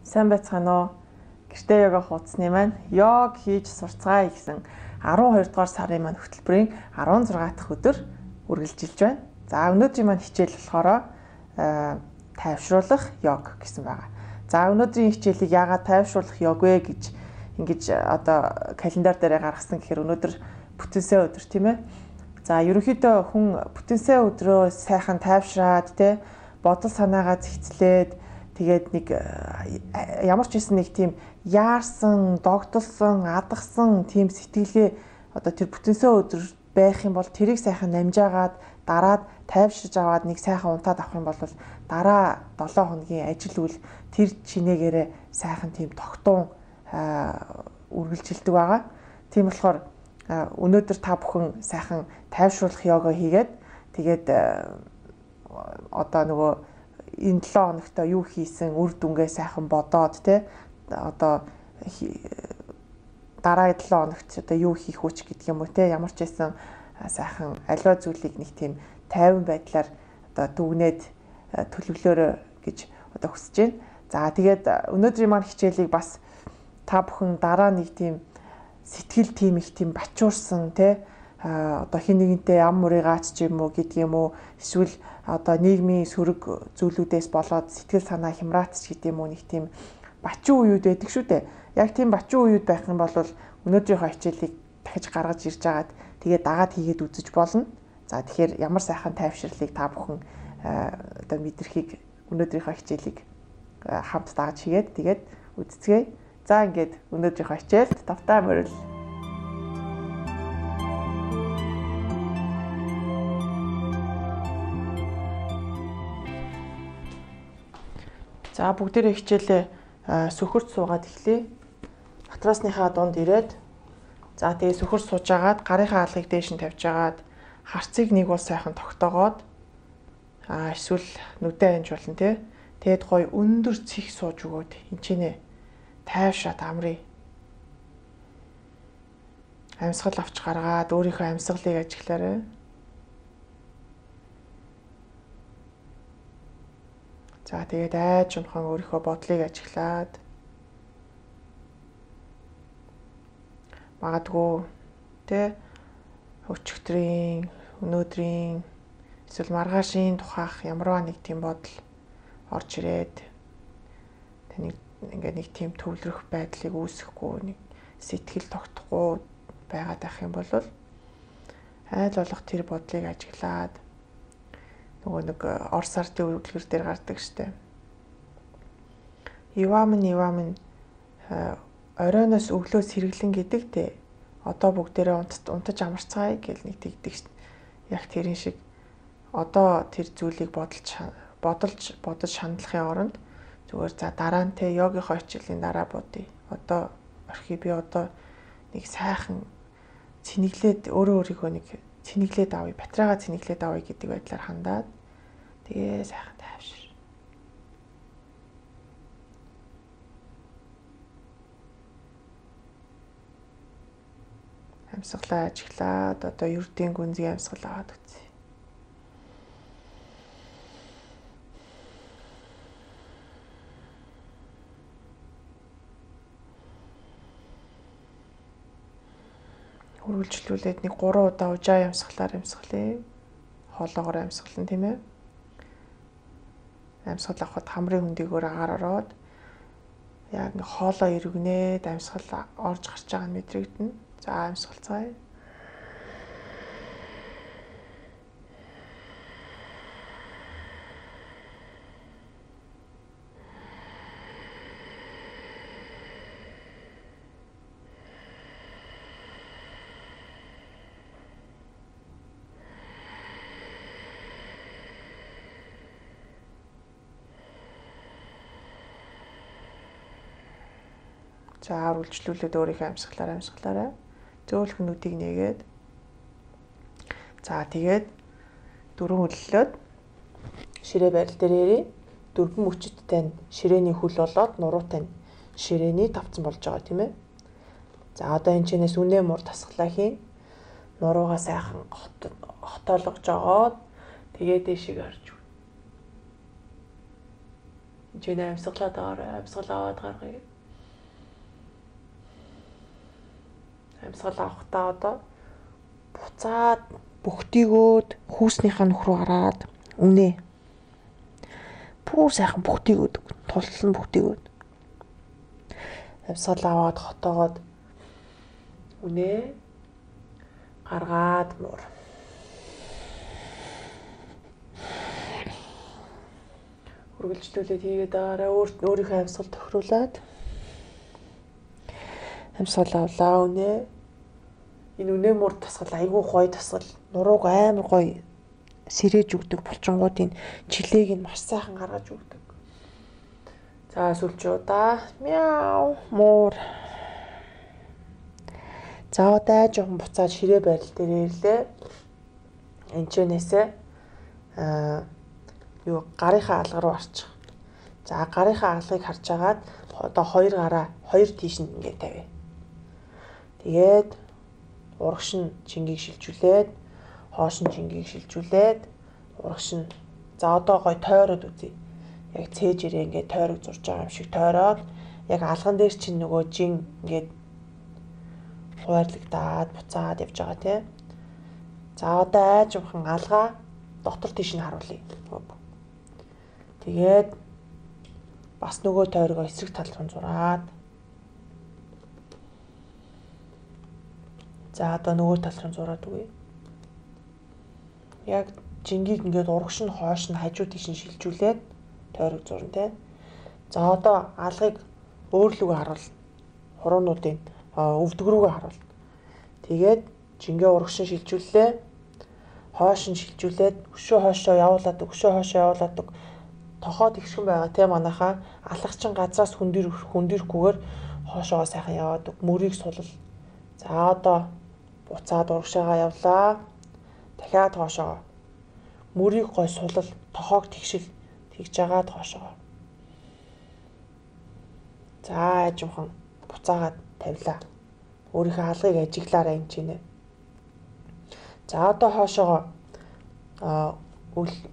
Сайн байцгаана уу? Гэртээ йога хуудасны маань йог хийж сурцгаая гэсэн 12 дугаар сарын маань хөтөлбөрийн 16 дахь өдөр үргэлжилж байна. За өнөөдрийн маань хичээл болохоор тайвшруулах йог гэсэн байгаа. За өнөөдрийн хичээлийг яагаад тайвшруулах йог вэ гэж ингэж одоо календар дээр гаргасан гэхээр өнөөдөр бүтэнсэ өдөр тийм ээ. За ерөнхийдөө хүн бүтэнсэ өдрөө сайхан тайвшраад тэ бодол санаагаа зэгцлээд тэгээд нэг ямар ч хэсэн нэг тийм яарсан, догдолсон, адгсан тийм сэтгэлгээ одоо тэр бүтэнсэ өдөр байх юм бол тэрийг сайхан намжаагаад дараад тайвширж аваад нэг сайхан унтаад авах юм бол дараа 7 хоногийн ажил үйл тэр чинээгээрээ сайхан тийм тогтун үргэлжилдэг байгаа. Тийм болохоор өнөөдөр та бүхэн сайхан тайвшруулах йога хийгээд тэгээд одоо нөгөө энэ 7 хоногт юу хийсэн үр дүнгээ сайхан бодоод те одоо дараагийн 7 хоногт одоо юу хийх үуч гэдэг юм уу те ямар ч байсан сайхан аливаа зүйлийг нэг тийм тайван байдлаар одоо дүгнээд төлөвлөөрэй гэж одоо хүсэж байна. За тэгээд өнөөдрийн маань хичээлийг бас та бүхэн дараа нэг тийм сэтгэл тийм их тийм бачуурсан те одоо хин нэгнтэй ам мурыгаач ч юм уу гэдэг юм уу эсвэл одоо нийгмийн сөрөг зүйлүүдээс болоод сэтгэл санаа хямраатч гэдэг юм уу нэг тийм бачуу үеуд байдаг шүү дээ. Яг тийм бачуу үеуд байх юм бол өнөөдрийнхөө хичээлийг дахиж гаргаж ирж агаад тэгээд дагаад хийгээд үзэж болно. За тэгэхээр ямар сайхан тайвширлыг та бүхэн одоо мэдрэхийг өнөөдрийнхөө хичээлийг хамт дааж хийгээд тэгээд үзцгээе. За ингээд өнөөдрийнхөө хичээлд тавтай мөрөл. За бүгдээрээ хичээлээ сөхөрт суугаад эхлэе. Матрасныхаа дунд ирээд за тэгээ сөхөрт сууж агаад гарынхаа алгыг дээш нь тавьж агаад харцыг нэг бол сайхан тогтоогоод эсвэл нүдэ анж болно тий. Тэгэд гоё өндөр цих сууж өгөөд энчинэ тайвшраад амрыг амьсгал авч гаргаад өөрийнхөө амьсгалыг ажиглаарай. За тэгээд айж унхан өөрийнхөө бодлыг ажиглаад магадгүй тэ өчигдрийн өнөөдрийн эсвэл маргаашийн тухайх ямарваа нэг тийм бодол орж ирээд таны ингээд нэг тийм төвлөрөх байдлыг үүсэхгүй нэг сэтгэл тогтохгүй байгаад байх юм бол айл болох тэр бодлыг ажиглаад нөгөө нэг орс ардын үйлдвэр дээр гардаг штеп. Ивамын оройноос өглөөс хэрэглэн гэдэг те. Одоо бүгдээрээ унтаж амарцгаая гэл нэг тэгдэг штеп. Яг тэрэн шиг одоо тэр зүйлийг бодож шаналхын оронд зүгээр за дараа нь те йогийнхоо хичээлийн дараа бодъё. Одоо орхи би одоо нэг сайхан цэнэглээд өөрийгөө нэг цэнэглээд авъя, батраагаа цэнэглээд авъя гэдэг байдлаар хандаад тэгээ сайхан тайвшир. Амьсгалаа ажиглаад одоо ердийн гүнзгий амьсгал аваад үзье. Үргэлжлүүлээд нэг 3 удаа ужаа амьсгалаар амьсгалъя. Хоолоогоор амьсгална тийм ээ. Амьсгал авахд хамрын хөндөгөөр агаар ороод яг нэг хоолоо эргэнээд амьсгал орж гарч байгаа нь мэдрэгдэнэ. За амьсгалцгаая. За үргэлжлүүлээд өөрийнхөө амьсгалаараа зөөлхөн нүдийг нээгээд за тэгээд дөрвөн хөллөөд ширээ барил дээр ирээ. Дөрвөн мөчөдтэй ширээний хөл болоод нуруутай ширээний тавцсан болж байгаа тийм ээ. За одоо энэ чинээс үнэ муур тасглаа хийн. Нуруугаа сайхан хотоолгож жогоод тэгээд дэшиг орж. Жинэ амьсгалаад амьсгал аваад гаргая. Амьсгал авахдаа одоо буцаад бүгтийгөөд хүүснийхээ нөх рүү гараад үнэ. Пүүр сайхан бүгтийгөөд тулсан бүгтийгөөд. Амьсгал аваад хотоогоод үнэ гаргаад муур. Үргэлжлүүлээд хийгээд арай өөрийнхөө амьсгал тохируулаад амьсгал авлаа үнэ. Энэ үнэ муур тасгал айгүй гоё тасгал. Нурууг амар гоё сэрээж өгдөг булчингуудын чилээг нь маш сайхан гаргаж өгдөг. За сүлжүүдаа мяу муур. За одоо жоохон буцаад ширээ байрал дээр ирлээ. Энчэнээсээ гарынхаа алга руу орчих. За гарынхаа алгыг харж агаад одоо хоёр гараа хоёр тийш нь ингээд тавь. Тэгээд урагш нь чингийг шилжүүлээд хоош нь чингийг шилжүүлээд урагш нь за одоо гой тойроод үзье. Яг цээжээрээ ингээд тойрог зурж байгаа юм шиг тойроод яг алган дээр чинь нөгөө жин ингээд хуваарлагдаад буцаад явж байгаа тийм. За одоо айжмхан алгаа дотор тийш нь харуулъя. Тэгээд бас нөгөө тойрогоо эсрэг тал руу зураад за одоо нөгөө тал руу зураад үгүй. Яг жингийг ингээд урагш нь хоош нь хажуу тийш нь шилжүүлээд тойрог зурна тийм. За одоо алгыг өөрлөгөө харуулна. Хуруунуудын өвдөг рүүгээ харуулна. Тэгээд жингээ урагш нь шилжүүллээ. Хоош нь шилжүүлээд өшөө хоошоо явуулаад тохоод ихшгэн байгаа тийм манайхаа алгачин газраас хүндэрхгүйгээр хоошоо сайхан яваад мөрийг сулал. За одоо буцаад урагшаагаа явлаа. Дахиад хоошоо мөрийг гой сулал тохоог тэгшил тэгж агаад хоошоо. За ажимхан буцаагаад тавилаа. Өөрийнхөө алгыг ажиглаараа энэ чинь. За одоо хоошоогоо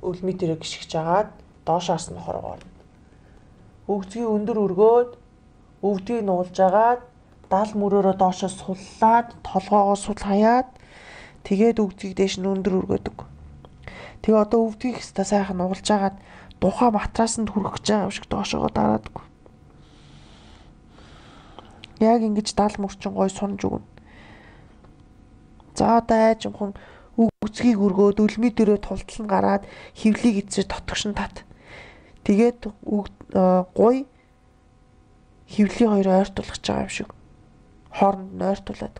үлми тэрэг гიშгэж агаад доошоос нь хоргоор. Өвдгийг өндөр өргөөд өвдгийг нуулж агаад дал мөрөөрөө доошоо суллаад толгоогоо сул хаяад тэгээд өвдгийг дээш нь өндөр өргөөдөг. Тэгээ одоо өвдгийг хэвээр сайхан нуулж агаад тухай матраасанд хүрэх гэж байгаа юм шиг доошоогоо дараадаг. Яг ингэж дал мөрчин гой сунж өгнө. За одоо айжмхан өвдгийг өргөөд үлми дээрээ тултал нь гараад хөвлийг эзэр дотгошин тат. Тэгээд гой хөвлийн хоёр ойртуулах гэж байгаа юм шиг хооронд нь ойртуулад.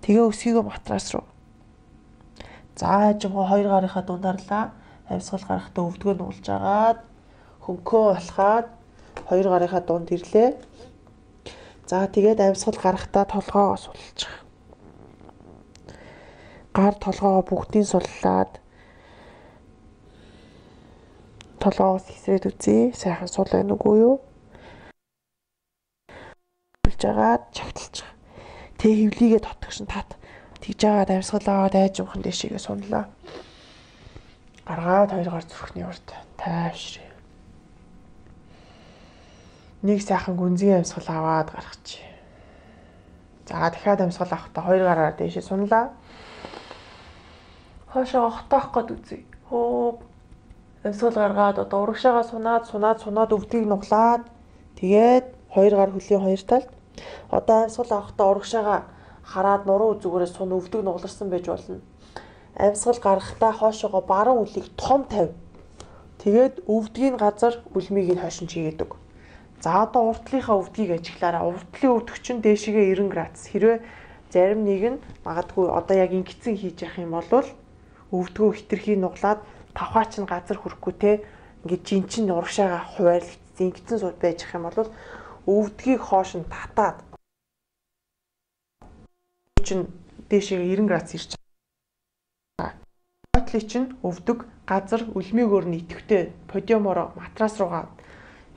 Тэгээ өсгийгөө матрас руу. За ажимгаа хоёр гарынхаа дундарлаа. Амьсгал гарахтаа өвдгөө нуулж агаад хөнкөө болохаад хоёр гарынхаа дунд ирлээ. За тэгээд амьсгал гарахтаа толгоогоо сулчих. Гар толгоогоо бүгдийг суллаад толгоогоос хэсрээд үзье. Сайхан сул байна уу юу? Болж агаад чагталчих. Тэ хөвлийгээ дотгошин тат. Тэгж агаад амьсгал аваад айжмхан дэшигээ сунлаа. Гаргаад хоёр гар зүрхний урд тайвшрээ. Нэг сайхан гүнзгий амьсгал аваад гаргачих. За дахиад амьсгал авахдаа хоёр гараар дэшээ сунлаа. Хоошоо хотоох гээд үзье. Амьсгал гаргаад одоо урагшаагаа сунаад өвдгийг нуглаад тэгээд хоёр гар хөлийн хоёр талд одоо амьсгал авахдаа урагшаагаа хараад нуруу зүгээрээ сун өвдөг нугларсан байж болно. Амьсгал гаргахдаа хоошоогоо баруун үлийг том тавь. Тэгээд өвдгийн газар үлмийг нь хойшин чигээдэг. За одоо уртлынхаа өвдгийг ажиглаараа. Уртлын өвдөг чинь дээшигээ 90 градус. Хэрвээ зарим нэг нь магадгүй одоо яг ингэсэн хийж явах юм бол өвдгөө хитрхий нуглаад тавхаач нь газар хүрэхгүй те ингээд жинчин урагшаага хуваарлагдсан ингэсэн сууд байж ах юм бол өвдгийг хоош нь татаад чинь дээшээ 90 градус ирж байгаа. Хотлын чинь өвдөг газар үлмийг өөр нь идэвхтэй подиумороо матрас руугаа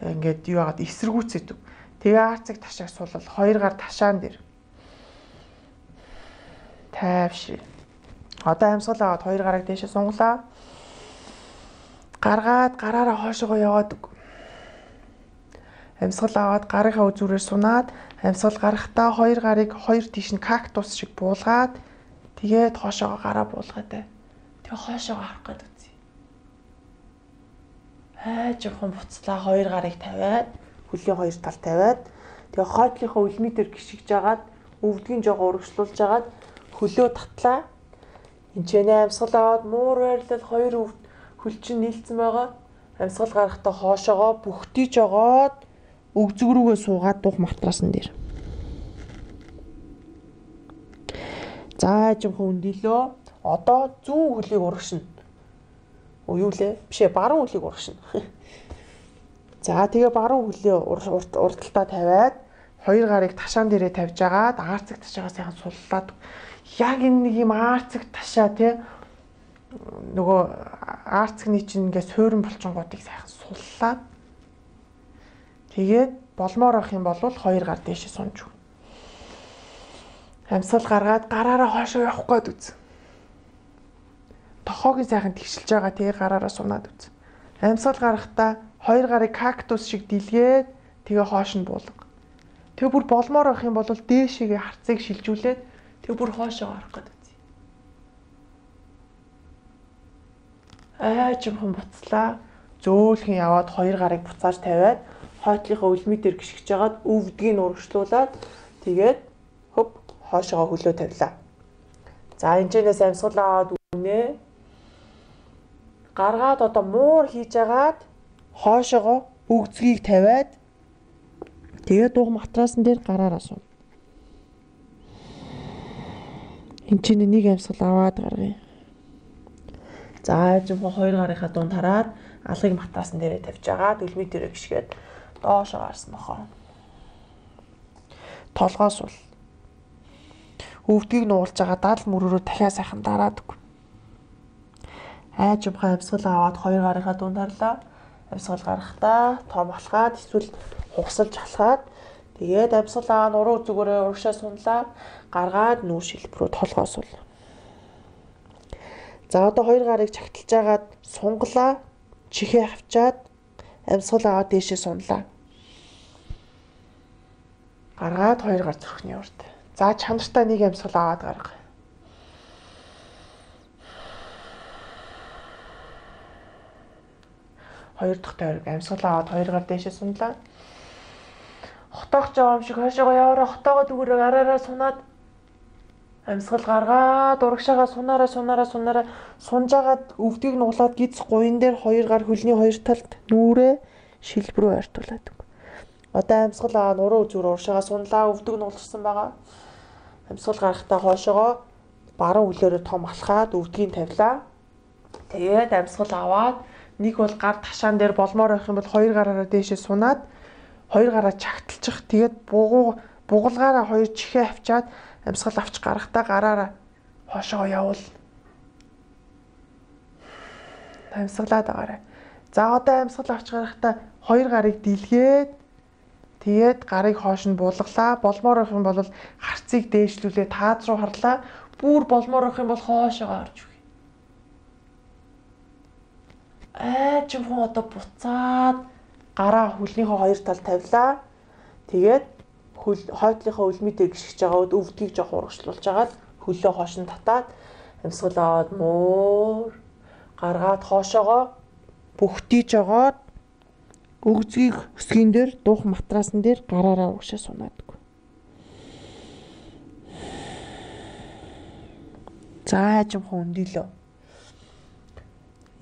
ингээд юу яагаад эсэргүүцэдэг. Тэгээ арцыг ташааг суулал хоёр гар ташаан дээр тайвшир. Одоо амьсгал аваад хоёр гараг дээшээ сунглаа. Гаргаад гараараа хоошоогоо яваад. Амьсгал аваад гарынхаа үзүүрээр сунаад амьсгал гарахдаа хоёр гарыг хоёр тийш нь кактус шиг буулгаад тэгээд хоошоогоо гараа буулгаад бай. Тэгээ хоошоогоо харах гээд үзье. Жоохон буцлаа хоёр гарыг тавиад хөлийн хоёр тал тавиад тэгээ хойдлынхаа үлмий дээр гიშгэж агаад өвдгийн жоо урагшлуулж агаад хөлөө татлаа. Энд ч амьсгал аваад муур байрлал хоёр хөл чинь нийлцэн байгаа. Амьсгал гарахдаа хоошоогоо бүхтий жогоод өгзөг рүүгээ суугаад дух матрасан дээр. За жоохон өндөлөө. Одоо зүүн хөлийг урагшина. Юу лээ? Бишээ баруун хөлийг урагшина. За тэгээ баруун хөлөө урталтаа тавиад хоёр гарыг ташаан дээрээ тавьж агаад аарцэг ташаагаа сайхан суллаад яг энэ нэг юм аарцэг ташаа тий нөгөө аарцэгний чинь ингээд суурин булчингуудыг сайхан суллаад тэгээд болмоор авах юм бол хоёр гар дээшээ сунж өгнө. Амьсгал гаргаад гараараа хоошоо явах гээд үз. Тохоог сайхан тэгшилж байгаа тэгээ гараараа сунаад үз. Амьсгал гарахдаа хоёр гарыг кактус шиг дэлгээд тэгээ хоош нь буулга. Тэгээ бүр болмоор авах юм бол дээшээгээ харцыг шилжүүлээд тэгээ бүр хоошоо гарах гээд үз. Жоохон буцлаа. Зөөлхөн яваад хоёр гарыг буцааж тавиад хойтлынхаа үлмий дээр гიშгэж агаад өвдгийг урагшлуулад тэгээд хөп хоошоогоо хөлөө тавилаа. За энэчнээс амьсгал аваад үнэ. Гаргаад одоо муур хийж агаад хоошоогоо өгзгийг тавиад тэгээд дух матрасан дээр гараараа сууна. Энд чинь нэг амьсгал аваад гаргая. За жоохон хоёр гарынхаа дунд хараад алгыг матрасан дээрээ тавьж агаад үлмий дээрээ гიშгээд доошоо гарсан бохоо. Толгоо сул. Өвдгийг нуулж байгаа дал мөрөөрөө дахиад сайхан дараадаг. Жоохон амьсгал аваад хоёр гарынхаа дунд харлаа. Амьсгал гарахдаа том алхаад эсвэл хугасалж алхаад тэгээд амьсгал аваа нуруу зүгээрээ урагшаа сунлаа. Гаргаад нүүр шилбэрүү толгоо сул. За одоо хоёр гарыг чагталж агаад сунглаа. Чихээ авчаад амьсгал аваад дээшээ сунлаа. Гаргаад хоёр гар зүрхний урд. За чанартай нэг амьсгал аваад гарга. Хоёр дахь тойрог амьсгал аваад хоёр гар дээшээ сунлаа. Хотоогч байгаа юм шиг хойшоогоо яваараа хотоогоо дүүрээ араараа сунаад амьсгал гаргаад урагшаагаа сунаараа сунжаагаад өвдгийг нуглаад гиз гуйн дээр хоёр гар хөлний хоёр талд нүрээ шилбрүү ойртуулаад. Одоо амьсгал аваа нуруу зүр урагшаагаа сунлаа өвдөг нугларсан байгаа. Амьсгал гарахдаа хоошоогоо баруун хөлөөрөө том алхаад өвдгийг тавилаа. Тэгээд амьсгал аваад нэг бол гар ташаан дээр болмоор байх юм бол хоёр гараараа дээшээ сунаад хоёр гараа чагталчих. Тэгээд бугалгаараа хоёр чихээ авчаад амьсгал авч гарахдаа гараараа хоошоо явуул. Амьсгалаад байгаарай. За одоо амьсгал авч гарахдаа хоёр гарыг дэлгээд тэгээд гарыг хоош нь буулгалаа. Болмоор байх юм бол харцыг дээшлүүлээ таад руу харлаа. Бүр болмоор байх юм бол хоошоо орж өгье. Жоохон одоо буцаад гараа хөлнийхөө хоёр тал тавилаа. Тэгээд хойтлынхаа үлмий дээр гიშгэж байгаа өвдгийг жоох урагшлуулж агаад хөлөө хоош нь татаад амьсгал аваад муур гаргаад хоошоогоо бүхтий жогоод өгзгийг өсгөн дээр дух матрасан дээр гараараа угшаа сунаадаг. За жоохон өндөлөө.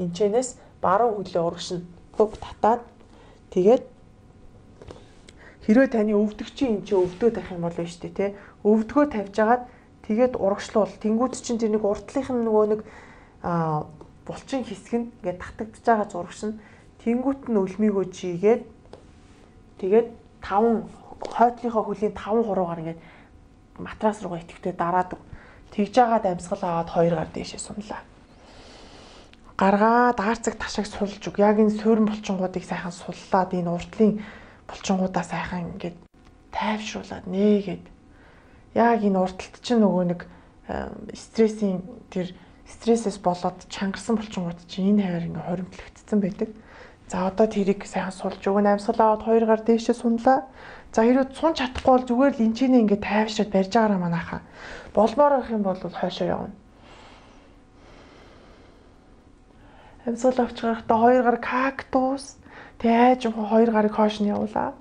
Энчнээс баруун хөлөө урагшин хөп татаад тэгээд хэрвээ таны өвдөгчийн энэ чинь өвдөө тавих юм бол биш үү те өвдгөө тавьж агаад тэгээд урагшлуул тэнгууд чинь тэр нэг уртлынх нь нөгөө нэг булчин хэсэг нь ингээд татагдж байгаа зурагш нь тэнгуут нь өлмийгөө жигээд тэгээд 5 хойтлынхоо хөлийн 5 хуруугаар ингээд матрас руугаа итгэвтэй дараадаг. Тэгж агаад амьсгал аваад хоёр гар дээшээ сунлаа. Гаргаад аарцэг ташааг сулж өг. Яг энэ суурин булчингуудыг сайхан суллаад энэ уртлын булчингуудаа сайхан ингээд тайвшруулад нээгээд яг энэ урталт чинь нөгөө нэг стрессээс болоод чангарсан булчингууд чинь энэ хавар ингээд хоримтлагдсан байдаг. За одоо тэрийг сайхан сулж өгнө. Амьсгал аваад 2 гар дээшээ сунлаа. За хэрвээ сун чадахгүй бол зүгээр л энчинээ ингээд тайвшраад барьж байгаараа манайхаа. Болмоор байх юм бол хойшоо явна. Амьсгал авч гарахдаа 2 гар кактус тэгээ айж 2 гарыг хойш нь явуулаад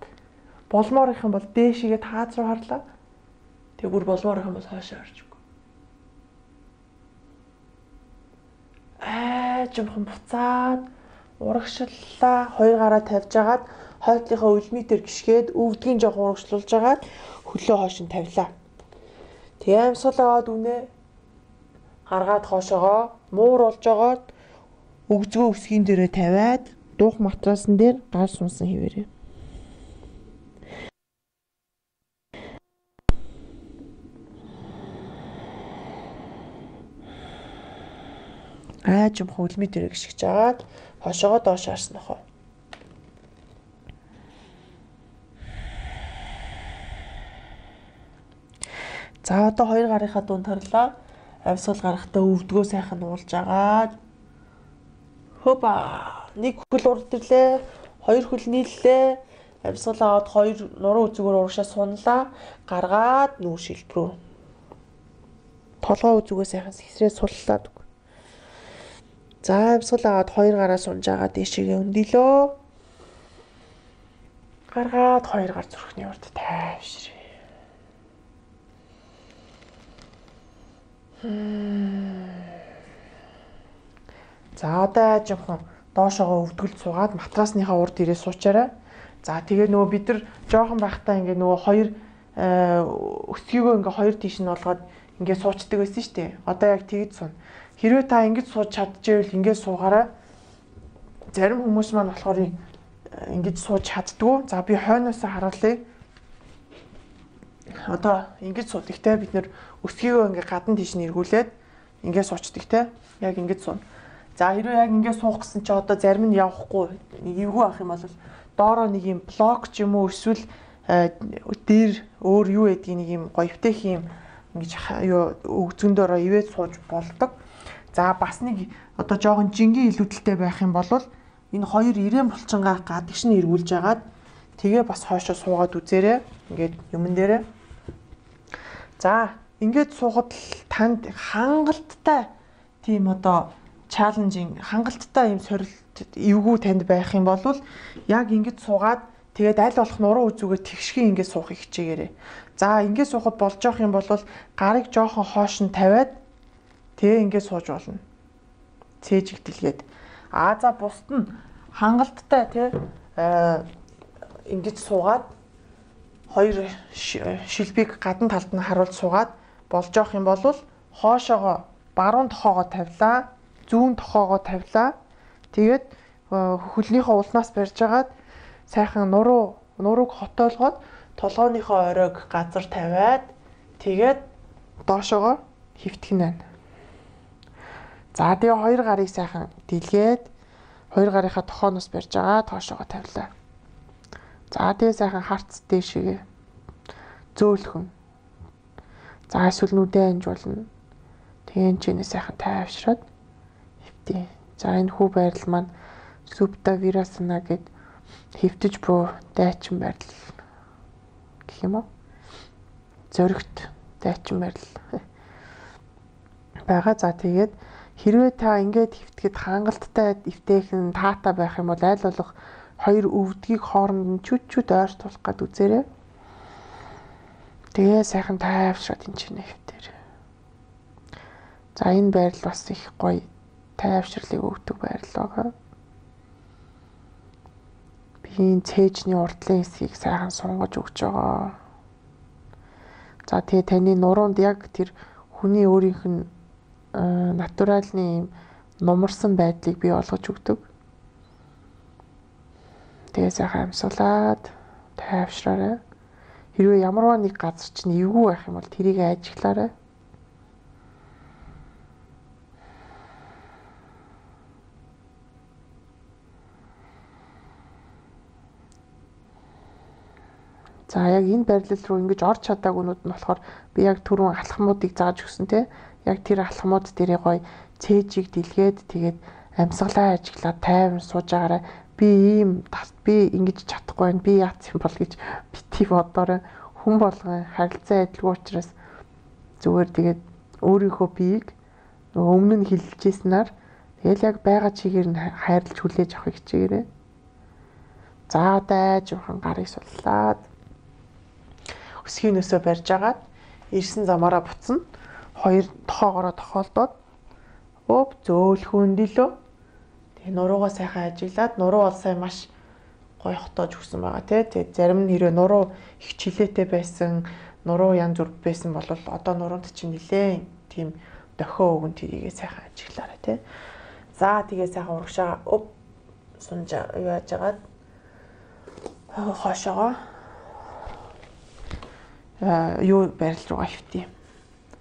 болмоор их юм бол дээшигээ тааз руу харлаа. Тэгээ бүр болмоор их юм бол хойшоо орж өгөө. Айж буцаад урагшлалаа 2 гараа тавьж агаад хойдлынхаа үлмитер гიშгээд өвдгийн жоох урагшлуулж агаад хөлөө хойш нь тавилаа. Тэгээ амьсгал аваад үнэ гаргаад хоошоогоо мууруулж агаад өгзгөө өсгийн дээрээ тавиад дуух матрасан дээр гал сунсан хിവэрээ. Айж хөлмий дээрээ гიშгэж агаад хошоогоо доош харсан нөхөө. За одоо 2 гарынхаа дунд тарлаа. Амьсгал гарахдаа өвдгөө сайхан уулж агаад хопа нэг хөл урд ирлээ, 2 хөл нийллээ. Амьсгал аваад 2 нуруу үзүүгээр урагшаа сунлаа. Гаргаад нүүр шилбрүү. Толгой үзүүгээ сайхан сэсрээ суллаад. За амьсгал аваад 2 гараа сунж агаад дээшээгээ өндөлөө. Гаргаад 2 гар зүрхний урд тайвшрээ. За одоо жоохон доошоогоо өвдгөл цугаад матрасныхаа урд ирээ суучаарай. За тэгээ нөгөө бид нар жоохон байхдаа ингээ нөгөө 2 өсгийгөө ингээ 2 тийш нь болгоод ингээ суучдаг байсан шүү дээ. Одоо яг тэгж суна. Хэрвээ та ингэж сууж чадчихвэл ингээ суугаарай. Зарим хүмүүс маань болохоор ингэж сууж чаддгүй. За би хойноосоо харуулъя. Одоо ингэж суудаг те бид нэр өсгийгөө ингээ гадна тийш нь эргүүлээд ингээ суучдаг те. Яг ингэж суuna. За хэрвээ яг ингээ суух гэсэн чи одоо зарим нь явахгүй эвгүй ах юм бол доороо нэг юм блок ч юм уу эсвэл дээр өөр юу гэдгийг нэг юм гоёвтэх юм ингэж юу өгзөндөрөө ивээд сууж болдог. За бас нэг одоо жоохон жингийн илүүдэлтэй байх юм бол энэ 2 ирээн булчингаа гадагш нь эргүүлж агаад тэгээ бас хойшоо суугаад үзээрэй. Ингээд юмн дээрээ. За ингээд суухад танд хангалттай тийм одоо чаленжинг хангалттай юм сорилт эвгүй танд байх юм бол яг ингэж суугаад тэгээд аль болох нуруу үзүүгээр тэгшгийн ингэж суухыг хичээгээрэй. За ингэж суухад болж явах юм бол гарыг жоохон хоош нь тавиад тэгээ ингэж сууж болно. Цээжиг дэлгээд. За бусд нь хангалттай тий ингэж суугаад 2 шилбиг гадна талд нь харуулж суугаад болж явах юм бол хоошоогоо баруун тохоогоо тавилаа, зүүн тохоогоо тавилаа. Тэгээд хөлнийхөө улнаас барьж агаад сайхан нурууг хотоолгоод толгойнхоо оройг газар тавиад тэгээд доошоогоо хөвтгөн байна. За тэгээ 2 гарыг сайхан дэлгээд 2 гарынхаа тохооноос барьж агаад тоошоогоо тавилаа. За тэгээ сайхан харц дээшээгээ зөөлхөн. За эсвэл нүдээ анжуулна. Тэгээ энэ ч сайхан тайвшраад хөвтөө. За энэ хүү байрал маань Supta Virasana гэд хөвтөж буй дайчин байрал гэх юм уу? Зөрөгт дайчин байрал байгаа. За тэгээд хэрвээ та ингээд хөвтгээд хангалттай эвтэйхэн таата байх юм бол аль болох 2 өвдгийг хооронд нь чүт ойртуулах гээд үзээрэй. Тэгээ сайхан тайвшраад энэ чинь хөвтөр. За энэ байрал бас их гоё тайвшрлыг өгдөг байрал байгаа. Би цээжний урдлын хэсгийг сайхан сунгаж өгч байгаа. За тэгээ таны нуруунд яг тэр хүний өөрийнх нь натуральны нумарсан байдлыг бий болгож өгдөг. Тэгээ сайхан амьсгалаад тайвшраарай. Хэрвээ ямарваа нэг газар чинь эвгүй байх юм бол тэрийг ажиглаарай. За яг энэ байрлал руу ингэж орж чадаагүйнүүд нь болохоор би яг түрүүн алхмуудыг зааж өгсөн те. Яг тэр алхмууд дээрээ гоё цээжийг дэлгээд тэгээд амьсгалаа ажиглаад тайван сууж агаараа би ингэж чадахгүй байна. Би яац юм бол гэж бити бодорой хүн болгон харилцаа адилгүй учраас зүгээр тэгээд өөрийнхөө биеийг өмнө нь хилжижсэнаар тэгэл яг байгаа чигээр нь хайрлаж хүлээж авахыг хичээгээрэй. За одоо жоохон гарыг суллаад өсгийн нөөсөө барьж агаад ирсэн замаараа буцна. Хоёр тохоогоороо тохиолдоод зөөлхөн дилөө. Тэгээ нуруугаа сайхан ажиглаад нуруу бол сайн маш гоё хотоож өгсөн байгаа тий. Тэгээ зарим нь хэрэг нуруу их чилээтэй байсан, нуруу янз бүр байсан бол одоо нуруунд чинь нилээ тийм дохио өгөн тэрийгээ сайхан ажиглаарай тий. За тэгээ сайхан урагшаа сунж юу яаж агаад хошоогоо юу барил руугаа хөвтий.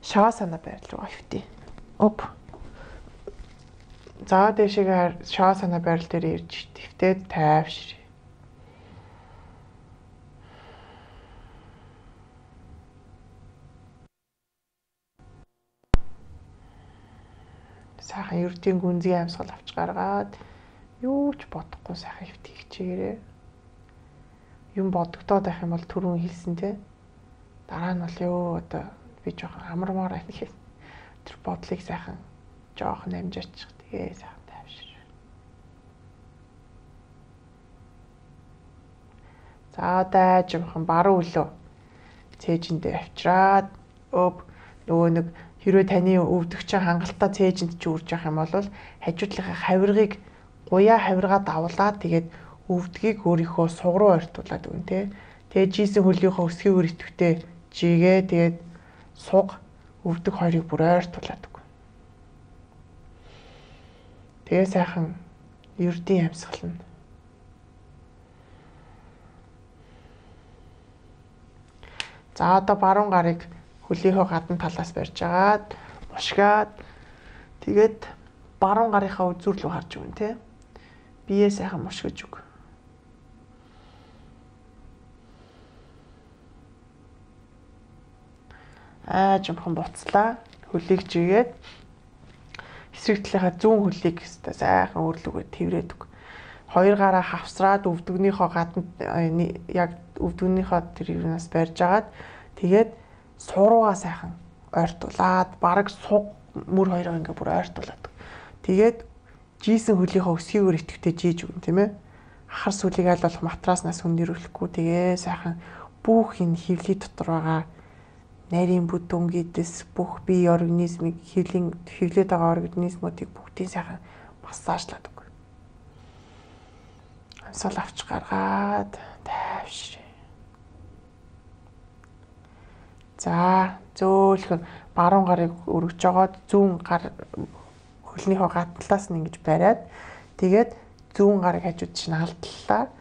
Шавасана барил руугаа хөвтий. За дэшигээр шавасана барил дээр ирж твтээд тайвшир. Сайхан ердийн гүнзгий амьсгал авч гаргаад юу ч бодохгүй сайхан хөвтий хичээгээрээ. Юм бодогдоод байх юм бол түрүүн хэлсэн те. Дараа нь бол ёо одоо би жоохон амармаар байна гэхээс тэр бодлыг сайхан жоохон амжаачих. Тэгээ сайхан тайвшир. За одоо жоохон баруун өлөө цээжиндээ авчираад нөгөө нэг хэрвээ таны өвдөгчийн хангалттай цээжинд ч үрж явах юм бол хажуудлынхаа хавиргыг гуяа хавиргаа давуулаад тэгээд өвдгийг өөрийнхөө суг руу ойртуулад өгнө те. Тэгээд жийсэн хөлийнхөө өсгийн үр идэвхтэй жигээ тэгээд суг өвдөг хоёрыг бүр ойртуулад өгнө. Тэгээ сайхан ердийн амьсгална. За одоо баруун гарыг хөлийнхөө гадна талаас барьж агаад мушгаад тэгээд баруун гарынхаа үзүүр рүү харж өгнө те. Бие сайхан мушгиж өг. Жимхан буцлаа. Хөлийг жигээд эсрэг талынхаа зүүн хөлийг сайхан өөрлөгөө тэврээд өг. Хоёр гараа хавсраад өвдөгнийхөө гадна яг өвдөгнийхөө тэр юунаас барьж агаад тэгээд суруугаа сайхан ойртуулад бараг суг мөр хоёроо ингээ бүр ойртуулад. Тэгээд жийсэн хөлийнхөө өсгийн үр идэвхтэй жийж өгнө тийм ээ. Ахар сүлийг аль болох матраснаас хүннэрүүлэхгүй тэгээ сайхан бүх энэ хөвлийн дотор байгаа нарийн бүдүүн гэдэс бүх бие организмыг хөвлөд байгаа организмуудыг бүгдийг сайхан массажлаад өгнө. Амьсгал авч гаргаад тайвшир. За зөөлхөн баруун гарыг өргөж жогоод зүүн гар хөлнийхөө гадналаас нь ингэж бариад тэгээд зүүн гарыг хажууд чинь алдлаа.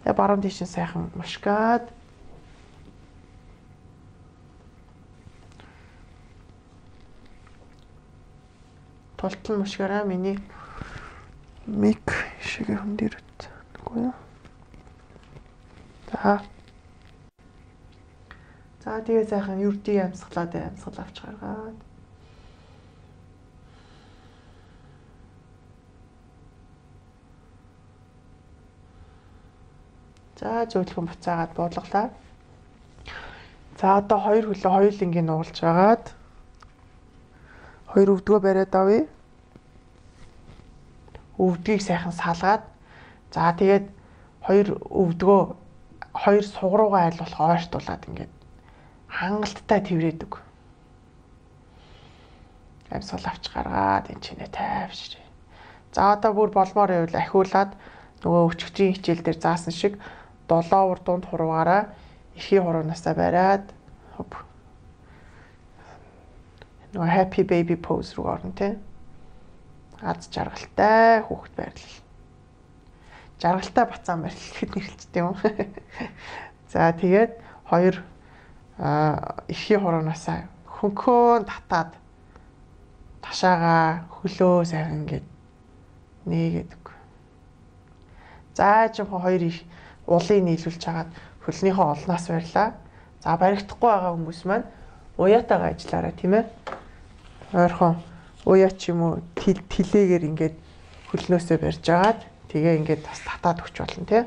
Тэгээ баруун тийш нь сайхан мушгаад тултал мушгаараа миний мик шиг юм дээр үгүй юу. За тэгээ сайхан ердийн амьсгалаад амьсгал авч гаргаад. За зөөлхөн буцаагаад буулгалаа. За одоо хоёр хөлөө хоёулангийн нуулж агаад хоёр өвдгөө бариад авъя. Өвдгийг сайхан салгаад за тэгээд хоёр өвдгөө хоёр суг руугаа аль болох ойртуулад ингээд хангалттай тэврээд өг. Амьсгал авч гаргаад энэ чинээ тайвшир. За одоо бүр болмоор байвал ахиулаад нөгөө өчгчийн хичээл дээр заасан шиг 7 урдуунд хуруугаараа эрхийн хуруунаасаа бариад нөгөө happy baby pose руу орно тий. Аз жаргалтай хүүхэд байрлал. Жаргалтай бацаан байрлал гэхэд нэрлэлцтэй юм. За тэгээд хоёр эрхийн хуруунаасаа хөнхөн татаад ташаага хөлөө сайхан ингээд нээгээд өг. За жинхэнэ хоёр уулыг нийлүүлж хагаад хөлнийхөө олноос барьлаа. За баригдахгүй байгаа хүмүүс маань уяатайгаа ажиллаарай тийм ээ. Ойрхон уяа ч юм уу тилээгээр ингээд хөлнөөсөө барьж агаад Тэгээ ингээд бас татаад өгч болно тий.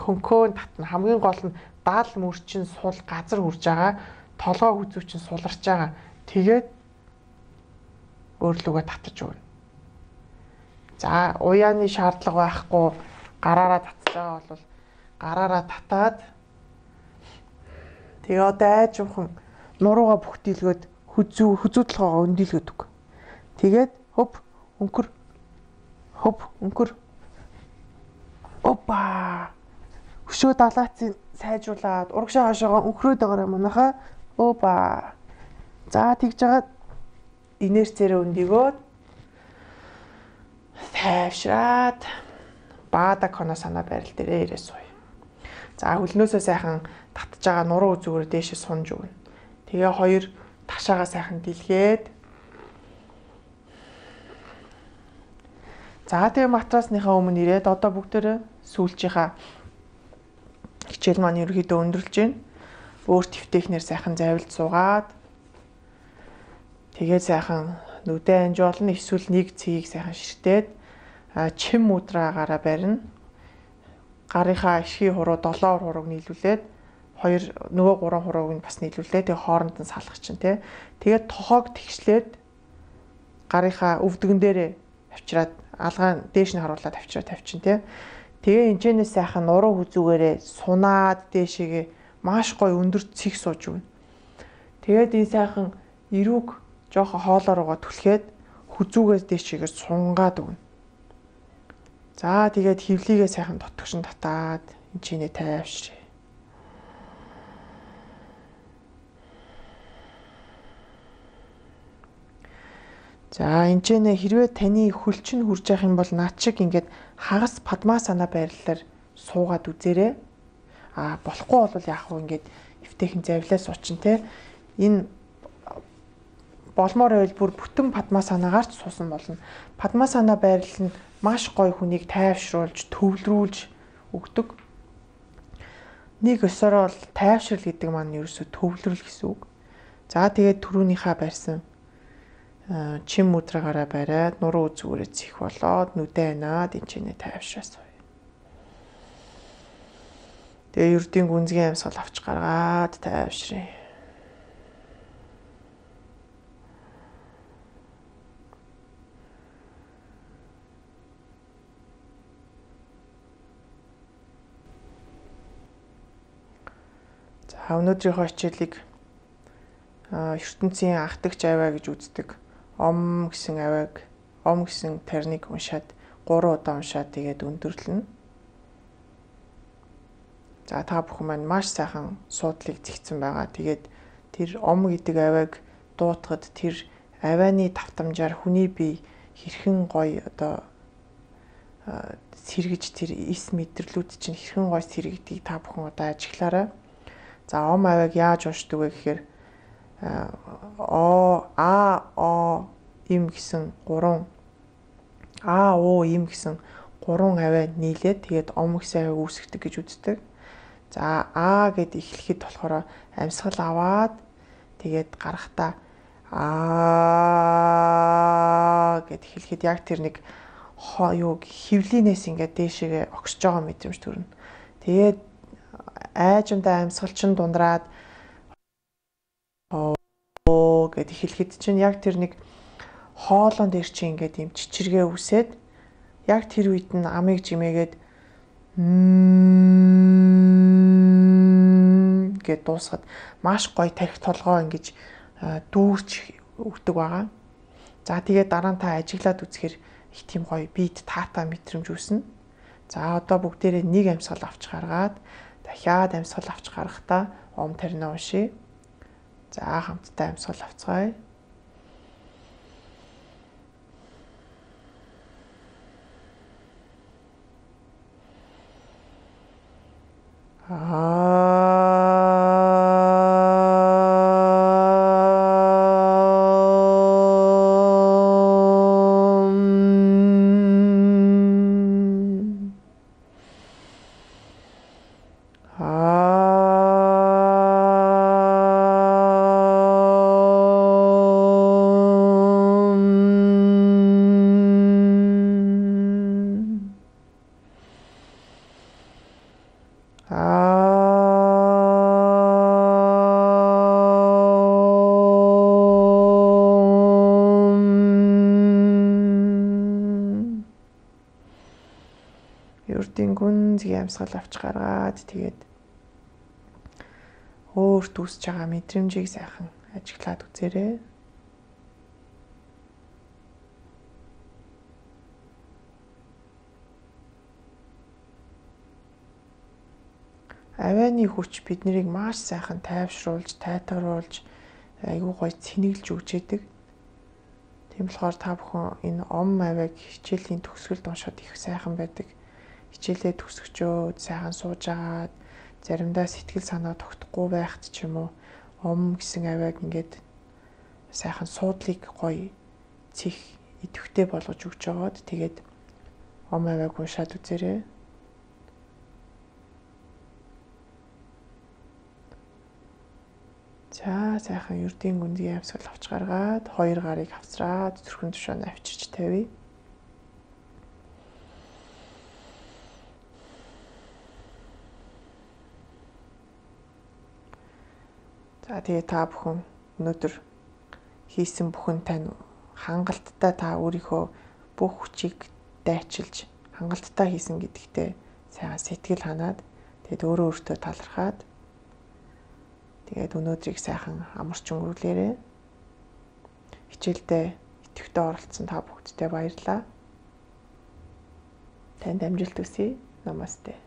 Хөнхөө татна. Хамгийн гол нь даал мөрчин сул газар хүрж байгаа. Толгой хүзүү чинь суларч байгаа. Тэгээд өөрлөгөө татаж өгнө. За уяаны шаардлага байхгүй гараараа татж байгаа бол гараараа татаад тэгээ одоо айжуухан нуруугаа бүхтийлгөөд хүзүү толгоогоо өндийлгөөд өг. Тэгээд хөп өнкөр опа өшөө далаацын сайжруулаад урагшаа хашаага өнхрөөд байгаа манайхаа опа за тэгж жагаад инерцээрээ өндөгөөд тайвшраад баада коно санаа байрал дээрээ ирээ сууя. За хөлнөөсөө сайхан татж байгаа нуруу үзүүгээр дээшээ сунж өгнө. Тэгээ хоёр ташаагаа сайхан дэлгээд за тэгээ матрасныхаа өмнө ирээд одоо бүгдээрээ сүүлчийнхаа хичээл маань ерөөхдөө өндөрлж байна. Өөр твтэхнэр сайхан завилж суугаад тэгээд сайхан нүдэ анжуулна, эсвэл нэг цэгийг сайхан ширтээд чин мудраагаараа барина. Гарынхаа ишгийн хуруу 7 хурууг нийлүүлээд нөгөө 3 хурууг нь бас нийлүүлээ. Тэгээ хооронд нь салгах чинь тий. Тэгээд тохоог тэгшлээд гарынхаа өвдгөн дээрээ авчираад алгаан дээш нь харуулад авчираад тавьчин тий. Тэгээ энэчнээс сайхан нуруу хүзүүгээрээ сунаад дээшээгээ маш гоё өндөр цэг сууж өгнө. Тэгээд энэ сайхан эрүүг жоохон хоолоороо түлхээд хүзүүгээс дээшээгээ сунгаад өгнө. За тэгээд хөвлийгээ сайхан дотгошин татаад энэчнээ тайвшрээ. За энэчнээ хэрвээ таны хөлчин хурж явах юм бол наад шиг ингээд хагас падмасана байрлалаар суугаад үзээрэй. Болохгүй бол яах вэ ингээд эвтэйхэн завлаа суучин те. Энэ болмоор байвал бүр бүтэн падмасанагаар ч суусан болно. Падмасана байрлал нь маш гоё хүнийг тайвшруулж, төвлөрүүлж өгдөг. Нэг өсөрөө бол тайвшрал гэдэг маань ерөөсөө төвлөрөл гэсэн үг. За тэгээд түрүүнийхээ барьсан чин мудрагаараа бариад нуруу үзүүрээ цих болоод нүдэ анаад энэчнээ тайвшраасаа. Тэгээ ердийн гүнзгий амьсгал авч гаргаад тайвшрээ. За өнөөдрийнхөө хичээлийг ертөнцийн анхдагч аваа гэж үздэг. Ом гэсэн авааг, ом гэсэн тарныг уншаад 3 удаа уншаад тэгээд өндөрлөнө. За та бүхэн маань маш сайхан суудлыг зэгцэн байгаа. Тэгээд тэр ом гэдэг авааг дуутахад тэр авааны давтамжаар хүний бие хэрхэн гоё одоо сэргэж тэр эс мэдрэлүүд чинь хэрхэн гоё сэргэгдгийг та бүхэн одоо ажиглаарай. За ом авааг яаж уншдаг вэ гэхээр им гэсэн 3 им гэсэн 3 аваа нийлээд тэгээд ом гэсэн аваа үүсгдэг гэж үздэг. За гэд эхлэхэд болохоор амьсгал аваад тэгээд гарахтаа гэд эхлэхэд яг тэр нэг хөвлийнээс ингээд дээшээгээ огсож байгаа мэдрэмж төрнө. Тэгээд айжмдаа амьсгалчин дундраад гэд эхлэхэд чинь яг тэр нэг хоолон дээр чинь ингээд юм чичиргээ үсээд яг тэр үед нь амыг жимээгээд гэд дуусгаад маш гоё тарих толгоо ингэж дүүрч өгдөг байгаа. За тэгээд дараа нь та ажиглаад үзэхээр их тийм гоё биед таата мэдрэмж үүснэ. За одоо бүгдээрээ нэг амьсгал авч гаргаад дахиад амьсгал авч гарахдаа ом тарина уншия. За хамтдаа амьсгал авцгаая. ердийн гүнзгий амьсгал авч гаргаад тэгээд өөрт үсэж байгаа мэдрэмжийг сайхан ажиглаад үзээрэй. Авианы хүч биднийг маш сайхан тайвшруулж, тайтгаруулж, айгүй гоё цэнэглэж өгч яадаг. Тийм болохоор та бүхэн энэ ом авиаг хичээлийн төгсгөлд уншаад их сайхан байдаг. Хичээлээ төгсгчөөд сайхан сууж агаад заримдаа сэтгэл санаа тогтохгүй байхад ч юм уу ом гэсэн авиаг ингээд сайхан суудлыг гоё цих идэвхтэй болгож өгч жагаад тэгээд ом авиаг уншаад үзээрэй. За сайхан ердийн гүнзгий амьсгал авч гаргаад хоёр гарыг хавцраад зүрхэн тушаанд авчирч тавья. За тэгээ та бүхэн өнөөдөр хийсэн бүхэн тань хангалттай та өөрийнхөө бүх хүчийг дайчилж хангалттай хийсэн гэдэгтээ сайхан сэтгэл ханаад тэгээд өөрөө өөртөө талархаад тэгээд өнөөдрийг сайхан амарч өнгөрүүлээрэй. Хичээлдээ идэвхтэй оролцсон та бүгдтэй баярлалаа. Танд амжилт хүсье. Намасте.